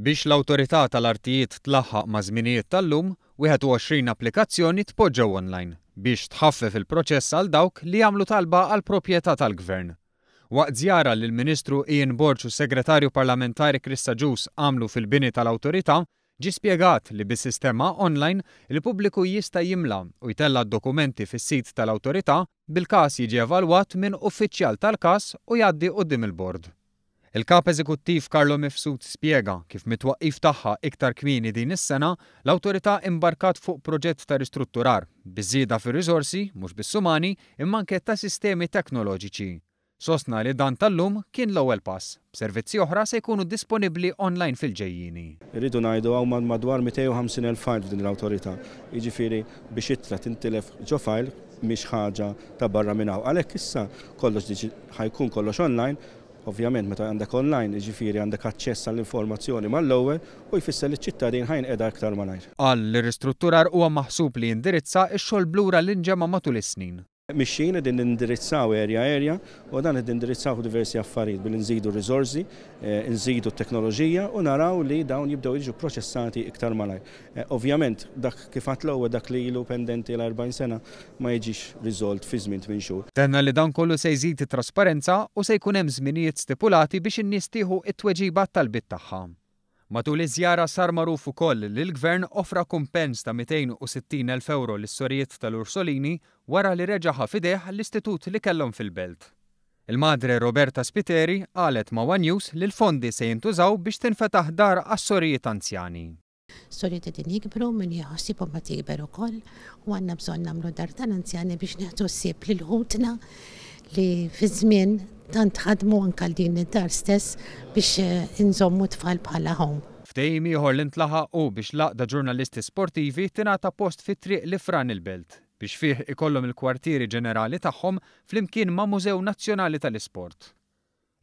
Biex l-Awtorità tal-Artijiet tlaħħaq maż-żminijiet tal-lum, 21 applikazzjoni tpoġġew online biex tħaffef il-proċess għal dawk li jagħmlu talba għal proprjetà tal-Gvern. Waqt żjara li l-Ministru Ian Borg u s-Segretarju Parlamentari Chris Agius għamlu fil-bini tal-Awtorità, ġie spjegat li bis-sistema online, il-pubbliku jista' jimla u jtella' d-dokumenti fis-sit tal-Awtorità, bil-każ jiġi evalwat minn uffiċjal tal-każ u jgħaddi quddiem il-bord. Il-Kap Eżekuttiv Carlo Mifsud spjega kif mit-twaqqif tagħha iktar kmieni din is-sena, l-Awtorità imbarkat fuq proġett ta' ristrutturar, biż-żieda fir-riżorsi, mhux biss umani, imma anke ta' sistemi teknoloġiċi. Sostna li dan tal-lum kien l-ewwel pass, b'servizzi oħra se jkunu disponibbli online fil-ġejjieni. Irridu ngħidu hawn madwar 250,000 file f'din l-awtorità. Jiġifieri biex ittra tintilef ġo file mhix ħaġa ta' barra minn hawn. Għalhekk issa kollox ħa jkun kollox online. Ovvjament meta għandek online, jiġifieri għandek aċċess għall-informazzjoni mal-ewwel u jfisser li ċ-ċittadin ħa jinqeda iktar malajr. Qal li r-ristrutturar huwa maħsub li jindirizza x-xogħol b'lura li nġema' matul is-snin. Mixjin qegħdin nindirizzaw area area u dan qed nindirizzaw diversi affarijiet billi nżidu r-riżorsi, nżidu t-teknoloġija u naraw li dawn jibdew jiġu pproċessati iktar malajr. Ovvjament dak kif għedt l-ewwel dak li ilu pendenti l-40 sena ma jiġix riżolt fi żmien 8 xhur. Tenna li dan kollu se jżid it-trasparenza u se jkun hemm żminijiet stipulati biex in-nies tieħu t-tweġiba għat-talbiet tagħha. Matul iż-żjara sar magħruf ukoll li l-Gvern offra kumpens ta' 260 elf ewro lis-sorijiet tal-Ursolini wara li reġa' ħa f'idejh l-istitut li kellhom fil-Belt. Il-Madre Roberta Spiteri qalet ma' one News li l-fondi se jintużaw biex tinfetaħ dar għas-sorijiet anzjani. Sorijiet qegħdin jikbru, min jieħu ħsiebhom qed jikber ukoll u għandna bżonn nagħmlu dar tal-anzjani biex nieħdu ħsieb lil ħutna li fiż-żmien tant ħadmu anke għal din id-dar stess biex inżommu t-tfal bħala home. Ftehim ieħor li ntlaħaq hu biex l-Għaqda Ġurnalisti Sportivi tingħata post fi Triq l-Ifran il-Belt biex fih ikollhom il-kwartieri ġenerali tagħhom flimkien ma' Mużew Nazzjonali tal-Isport.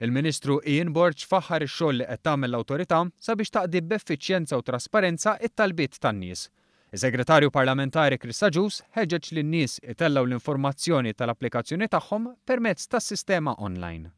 Il-Ministru Ian Borg faħħar ix-xogħol li qed tagħmel l-Awtorità sabiex taqdi b'effiċjenza u trasparenza t-talbiet tan-nies. Is-Segretarju Parlamentari Chris Agius ħeġġeġ lin-nies itellgħu l-informazzjoni tal-applikazzjoni tagħhom permezz tas-sistema online.